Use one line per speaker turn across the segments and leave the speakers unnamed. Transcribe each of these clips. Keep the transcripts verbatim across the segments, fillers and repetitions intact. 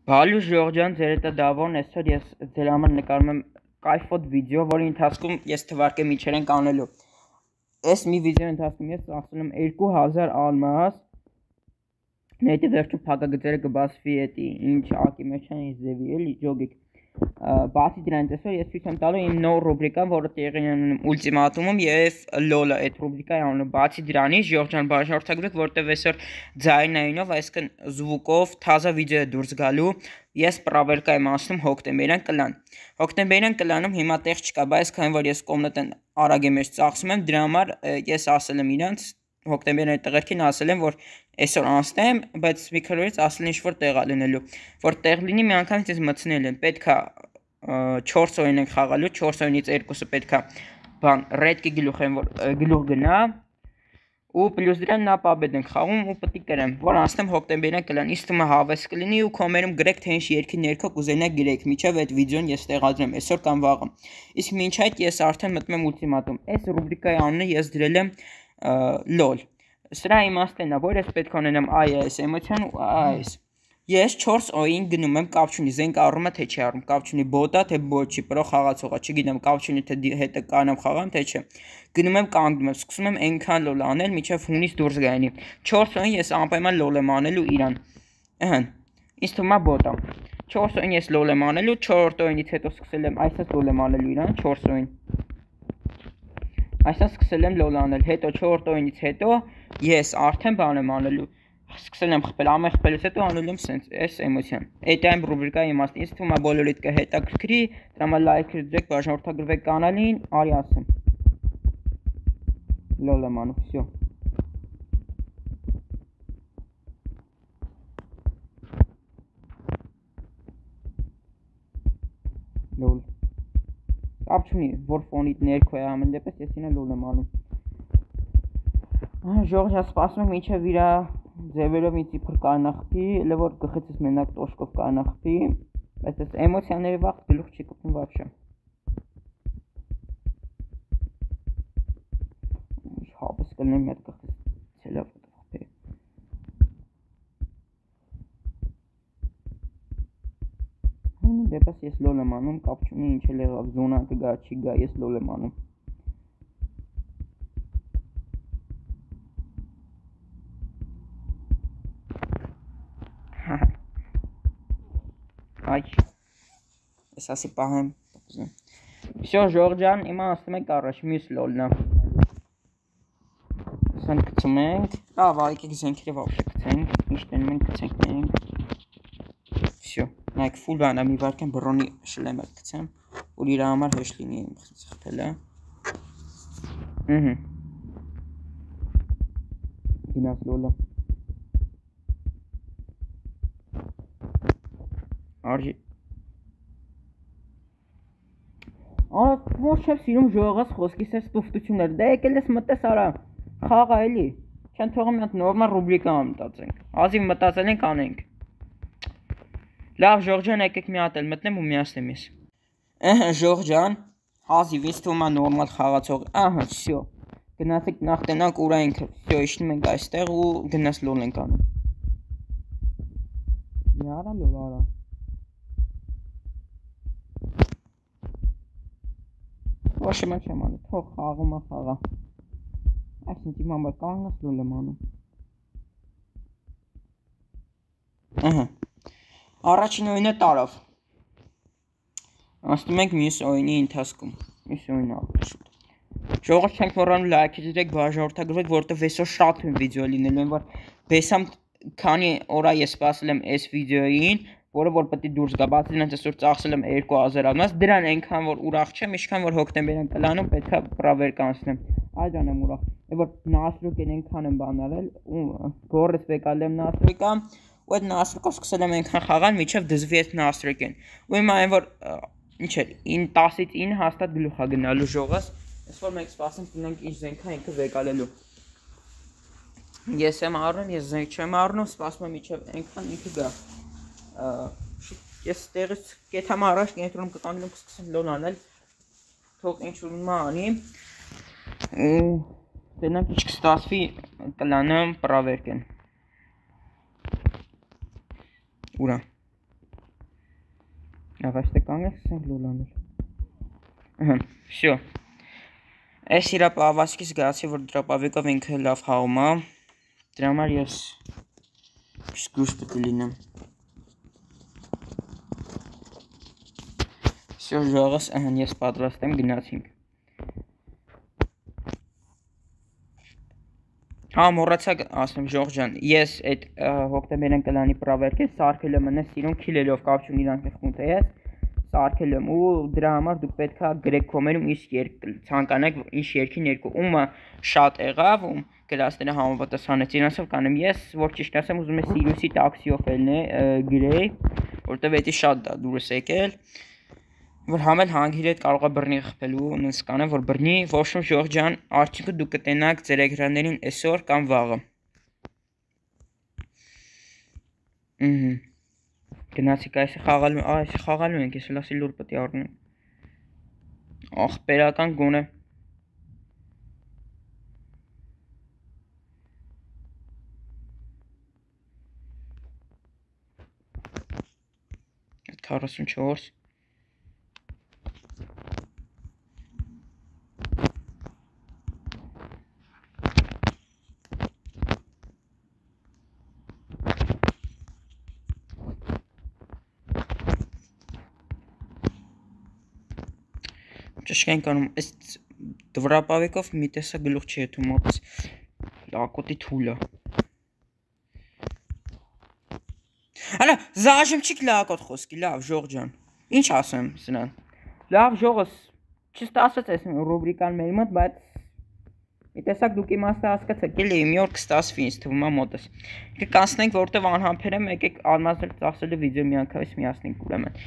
Բալուշ Ժողջան, ձեր հետ է Դավոն, այսօր ես ձեր համար նկարում եմ կայֆոտ վիդեո, որի ընթացքում ես թվարկեմ ինչեր ենք անելու։ Այս մի վիդեոյի ընթացքում ես ծախսել եմ երկու հազար ալմաս, նետի վերջում փակագծերը կբացվի էտի, ինչ ակի մեջ են, ինչ ձևի էլի, ջոգիկ։ Բացի դրանից այսօր ես ցույց եմ տալու իմ նոր ռուբրիկան, որը տեղի է ունենում ուլտիմատումում եւ լոլը, այդ ռուբրիկայի անունը։ Բացի դրանից Ժողջան բաժանորդագրեք, որտեվ այսօր ձայնայինով, այսինքն զվուկով թազա վիդեո է դուրս գալու։ Ես պրավերկա եմ ասում հոկտեմբերյան կլան։ Հոկտեմբերյան կլանում հիմա տեղ չկա, բայց քանի որ ես կոմնատեն արագ եմ մեջ ծախսում եմ, դրա համար ես ասել եմ իրանց հոկտեմբերյան տղերքին ասել եմ, որ այսօր անցնեմ, բայց մի քրորից ասել ինչ որ տեղ ալնելու, որ տեղ լինի մի անգամ ինձ մտցնել եմ, պետքա չորս օրին ենք խաղալու, չորս օրինից երկուսը պետքա բան ռեդկի գլուխ եմ, որ գլուխ գնա, ու պլյուս դրան նա պաբեդ ենք խաղում ու պետք է կրեմ, որ անցնեմ հոկտեմբերյան կլան, իսկ թվում է հավես կլինի ու կոմերում գրեք թե ինչ երկի ներքո կուզենաք գրեք, միջև այդ վիդեոն ես տեղադրեմ այսօր կամ վաղը։ Իսկ մինչ այդ ես արդեն մտնում եմ ուլտիմատում։ Այս ռուբրիկայի անունը ես դրել եմ լոլ։ Սրա իմաստն է, որ ես պետք է ունենամ այս էմոցիան ու այս։ Ես չորս օրին գնում եմ, կապ չունի, զենք առնում է թե չի առնում, կապ չունի բոտա թե բոտ չի, պրո խաղացողա, չգիտեմ, կապ չունի թե հետը կանամ խաղամ թե չէ։ Գնում եմ կանգնում եմ, սկսում եմ այնքան լոլ անել, մինչև հունիս դուրս գայնի։ չորս օրին ես անպայման լոլ եմ անելու իրան։ Ըհը։ Ինձ թվում է բոտա։ չորս օրին ես լոլ եմ անելու, չորրորդ օրինից հետո սկսել եմ, այսպես լոլ եմ անելու իրան, չորս օրին։ Այսպես սկսել եմ լոլ անել, հետո չորրորդ օրինից հետո ես արդեն բան եմ անելու։ Սկսել եմ խփել, ամեն խփելուց հետո անելու եմ սենց, այս էմոցիան։ Այդ այն ռուբրիկայի իմաստն, ինձ թվում է բոլորիդ կհետաքրքրի, դրա համար լայք դրեք, բաժանորդագրվեք կանալին, արի ասեմ։ Լոլ եմ անում, всё։ Լոլ։ Կապ չունի, որ ֆոնիդ ներքո է ամեն դեպս, ես ինա լոլ եմ անում։ Ժողջա սպասում եմ ինչև իրա ձևերով ինձ իբր կանախպի, elə որ գխեցս մենակ տոշկով կանախպի, բայց այս էմոցիաների վաղ գլուխ չի կպնում вообще։ Հապս կլնեմ մի հատ գխես ցելավ խփի։ Հմ դեպս ես լոլ եմ անում, կապ չունի ինչ էլ եղավ, զոնա կգա, չի գա, ես լոլ եմ անում։ Այ, ես ասի պահեմ, всё, Ժողջան, իմա ասում ենք առաջ, մյուս լոլնա։ Սան կծում ենք, լավ, այկեք զենքերը վավշե կծենք, ինչ տենում ենք կծենք նենք, всё, նայք ֆուլ բանա մի վարկեն բրոնի շլեմ էլ կծեմ, որ իր համար հեշտ լինի իմ խփելը։ Ըհը։ Գնաց լոլը։ Արժի Արա ոչ չեմ սիրում ժողղաց խոսքիս այս տուֆտությունները, դե եկել ես մտես արա, խաղա էլի, չեն թողում մի հատ նորմալ ռուբրիկա մտածենք, ազիվ մտածել ենք անենք։ Լավ Ժողջան, եկեք մի հատ էլ մտնեմ ու միացնեմ ես։ Ըհը Ժողջան, ազիվ ինձ թվում է նորմալ խաղացող, ահա, всё։ Գնացեք նախ տնանք ուրա ինքը, всё, իջնում ենք այստեղ ու գնաց լոլ ենք անում։ Яра լոլ արա։ Ոչ եմ չեմ անում, թող խաղում է խաղա։ Այսինքն իմ համար կանգնած լոլ եմ անում։ Ահա։ Առաջին օրինը տարավ։ Անցնում ենք մյուս օրինի ընթացքում։ Մյուս օրինը ավելի շուտ։ Ժողովուրդ չենք մոռանում լայք դրեք, բաժանորդագրվեք, որովհետև այսօր շատ ուրիշ վիդեո լինելու են, որ բեսամ քանի օր ես սպասել եմ այս վիդեոյին, որը որ պետք է դուրս գա, բացի դրանից այսօր ծախսել եմ երկու հազար ալմաս, դրան այնքան որ ուրախ չեմ, ինչքան որ հոկտեմբերյան կլանում պետք է պրավերկ անցնեմ։ Այդան եմ ուրախ։ Որ նասրուկեն այնքան եմ բանալել, ու գորես վեկալ եմ նասրուկա, ու այդ նասրուկով սկսել եմ այնքան խաղալ, մինչև դզվի այդ նասրուկեն։ Ու հիմա այն որ ինչ էր, տասից ինը հաստատ գլուխ է գնալու ժողս, այսօր մենք սպասենք տնենք ինչ զենքա ինքը վեկալելու։ Ես եմ առնում, ես զենք չեմ առնում, սպասում եմ մինչև այնքան ինքը գա։ Ես տեղից կեթամ առաջ կենտրոնում կկանգնեմ կսկսեմ լոլ անել, թող ինչ որ մա անի, տենանք ինչ կստացվի կլանը պրավերկ են։ Ուրա։ Լավ, այստեղ կանգնենք, սկսենք լոլանել։ Ահա, всё։ Այս իրա պահվածքից գացի, որ դրապավիկով ինքը լավ հաղում է։ Դրա համար ես զգույշ պետք է լինեմ։ Всё, ժողովս, ահա ես պատրաստ եմ, գնացինք։ Հա, մոռացա ասեմ Ժորժ ջան, ես այդ հոկտեմբերյան կլանի պրավերքը սարքել եմ նես սիրուն քիլելով կապ չունի իրանք խմում թե ես սարքել եմ ու դրա համար դուք պետքա գրեք կոմերում ինչ երկ ցանկանաք ինչ երկին երկու ումը շատ եղավ ում գլասները համապատասխանեց իրանցով կանեմ ես որ ճիշտ ասեմ ուզում եմ Սիրիուսի տաքսիով ելնե գրեի որտեվ էդի շատ դա դուրս եկել որ համել հանգիր հետ կարող է բռնի խփելու նենց կանեմ որ բռնի ոչմ Ժորժ ջան արդյունքը դուք կտենաք ձեր էկրաններին այսօր կամ վաղը ըհը գնացիք այս խաղալու այս խաղալու ենք ես լասի լուր պետք է առնեմ ախպերական գոնե քառասունչորս Ճշգրիտ անում այս դվրապավիկով մի տեսա գլուխ չի եթում մոտ լակոտի թուլը Հələ զաժմչիկ լակոտ խոսքի լավ Ժորժ ջան ինչ ասեմ սնան լավ Ժողս չստացած այս ռուբրիկան մեր մոտ բայց մի տեսակ դուք իմաստը հասկացաք էլի մի օր կստացվի ինձ թվում է մոտս կկանցնենք որտեվ անհամբեր եմ եկեք алмազներ ծախսելու վիդեո միանգամից միացնենք ուրեմն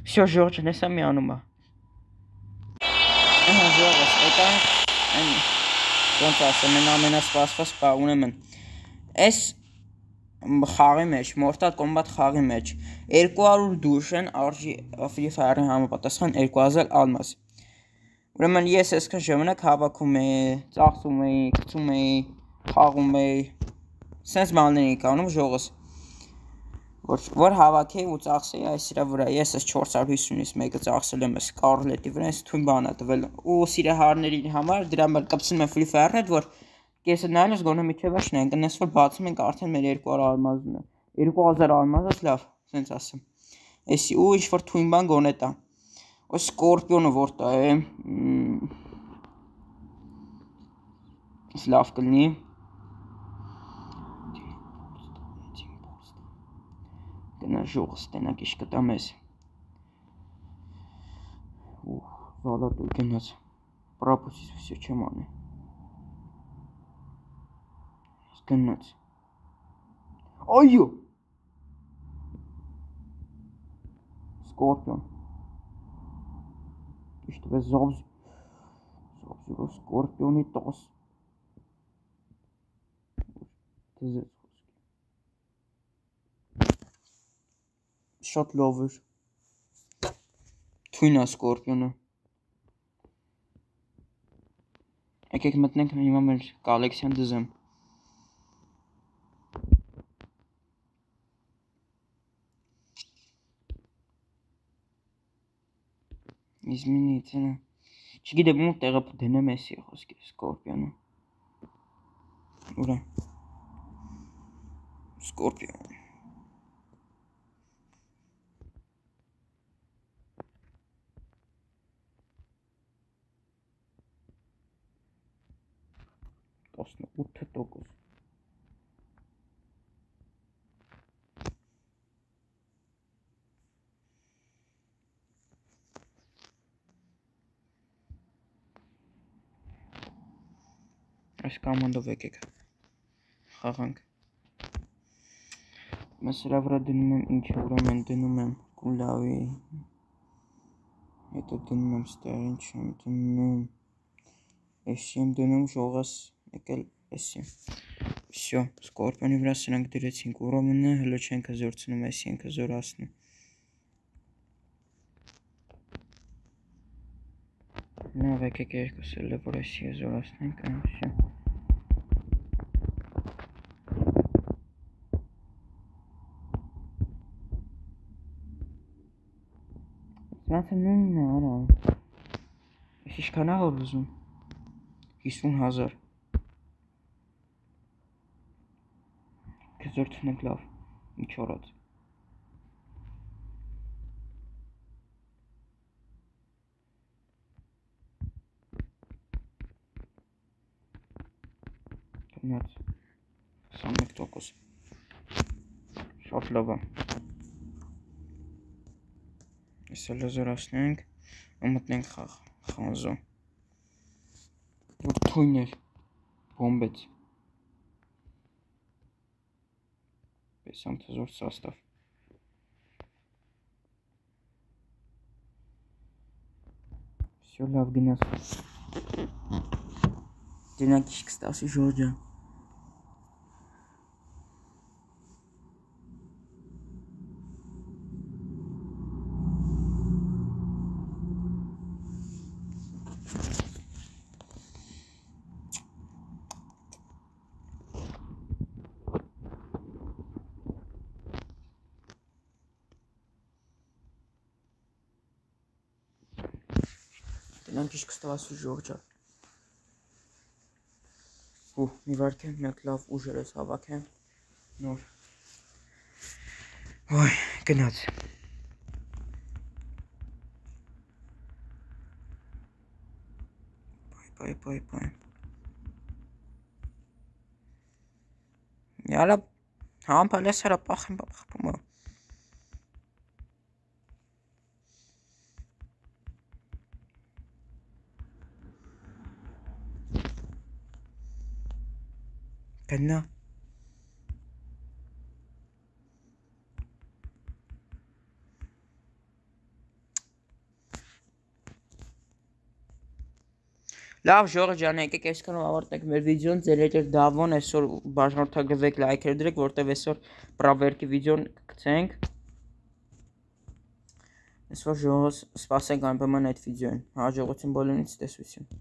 Всё Ժորժ ջան հեսա մի անում է Ահա Ժողս եկան ոնց ասեմ են ամենասպասված բա ունեմ այս խաղի մեջ Mortal Kombat խաղի մեջ երկու հարյուր դուրս են արժի Free Fire-ի համապատասխան երկու հազար ալմաս ուրեմն ես այսքան ժամանակ հավաքում էի ծախսում էի գցում էի խաղում էի sense բաներ էի անում Ժողս որ որ հավաքեի ու ծախսեի այս իրա վրա ես այս չորս հարյուր հիսունից մեկը ծախսել եմ այս Scarlet-ի վրա այս թույն բան է տվել ու սիրահարների համար դրա համար կապցնում եմ Free Fire-ը որ Կեսը նայելս գոնե մի չէ ոչ նենք նես որ բացում ենք արդեն մեր երկու հարյուր ալմազն է երկու հազար ալմազս լավ սենց ասեմ էսի ու ինչ որ թույն բան գոնե տա ու Սկորպիոնը որ տա է լավ կլինի գնա Ժողս տենակ ինչ կտա մեզ ու զալատուր գնաց պրապուսից վսյո չեմ անի Գնաց Այո Սկորպիոն Իշտ վեզ զոբզ Զոբզիրով Սկորպիոնի տոս Դզեց խոսքի Շատ լավ էր Թույն է Սկորպիոնը Եկեք մտնենք հիմա մեր կոլեկցիան դզեմ Изменится Չգիտեմ ու տեղը դնեմ էսի խոսքի Սկորպիոնը Ուրա Սկորպիոն տասնութ տոկոս Այս կամանդով եկեք խաղանք Ես սրա վրա դնում եմ ինչը ուրեմն դնում եմ կուլավի հետո դնում եմ ստեղ ինչ եմ դնում էսի եմ դնում Ժողս եկել էսի Всё Սկորպիոնի վրա սրանք դրեցինք ուրեմն հլո չենք հզորցնում էսի ենք հզորացնում Լավ եկեք երկուս էլ որ էսի հզորացնենք Всё Սրանց է նույնն է, արա։ Ես ինչքան ա որ ուզում։ հիսուն հազար։ Կզոր թնենք լավ, ինչ օրած։ Գնաց, քսանմեկ տոկոս։ Շատ լավ է։ Այսը լեզորացնենք, մտնենք խանձո։ Որ թույն էր, բոմբեց։ Պեսամ թզոր սաստավ։ Всё լավ գնաց։ Դենակ իշ կստասի ժորջա։ Դենակ իշ կստասի ժորջա։ Ու մի վարք եմ, մեկ լավ ուժեր ես հավաք եմ, նոր, ոյ, գնաց, պայ, պայ, պայ, պայ, յալա, համպալ ես հրա պախ եմ պախպում է, գնա, լավ ժողը ջան, եկեք այսքանով ավարտենք մեր վիդեոն, ձեր հետ էր Դավոն, այսօր բաժանորդագրվեք, լայքեր դրեք, որտեվ այսօր պրավերքի վիդեոն կգցենք, այսօր ժողոս սպասենք անպայման այդ վիդեոին, հաջողություն բոլորին, տեսություն։